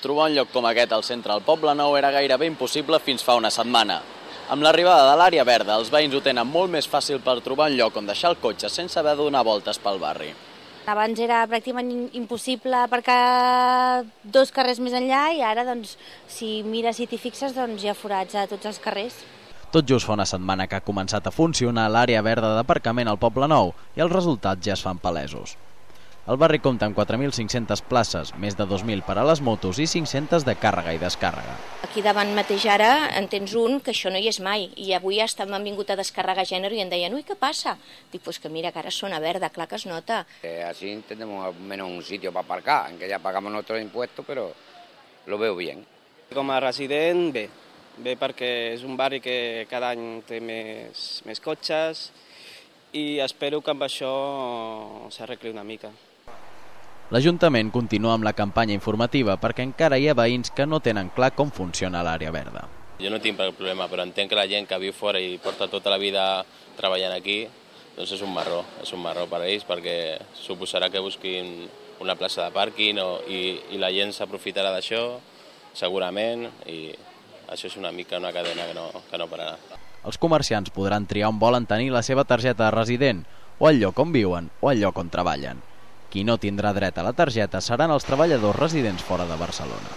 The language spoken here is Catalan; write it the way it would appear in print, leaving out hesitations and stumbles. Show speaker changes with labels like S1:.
S1: Trobar un lloc com aquest al centre del Poble Nou era gairebé impossible fins fa una setmana. Amb l'arribada de l'àrea verda, els veïns ho tenen molt més fàcil per trobar un lloc on deixar el cotxe sense haver de donar voltes pel barri.
S2: Abans era pràcticament impossible aparcar 2 carrers més enllà i ara, doncs, si mires i t'hi fixes, doncs hi ha forats a tots els carrers.
S1: Tot just fa una setmana que ha començat a funcionar l'àrea verda d'aparcament al Poble Nou i els resultats ja es fan palesos. El barri compta amb 4.500 places, més de 2.000 per a les motos i 500 de càrrega i descàrrega.
S3: Aquí davant mateix ara en tens un que això no hi és mai i avui han vingut a descarregar gènere i em deien, ui, què passa? Dic, pues que mira, que ara zona verda, clar que es nota.
S4: Así tenemos al menos un sitio para aparcar, aunque ya pagamos nuestros impuestos, pero lo veo bien.
S5: Com a resident, bé perquè és un barri que cada any té més cotxes i espero que amb això s'arregli una mica.
S1: L'Ajuntament continua amb la campanya informativa perquè encara hi ha veïns que no tenen clar com funciona l'àrea verda.
S6: Jo no tinc problema, però entenc que la gent que viu fora i porta tota la vida treballant aquí, doncs és un marró per a ells, perquè suposarà que busquin una plaça de pàrquing i la gent s'aprofitarà d'això, segurament, i això és una mica una cadena que no pararà.
S1: Els comerciants podran triar on volen tenir la seva targeta de resident, o el lloc on viuen, o el lloc on treballen. Qui no tindrà dret a la targeta seran els treballadors residents fora de Barcelona.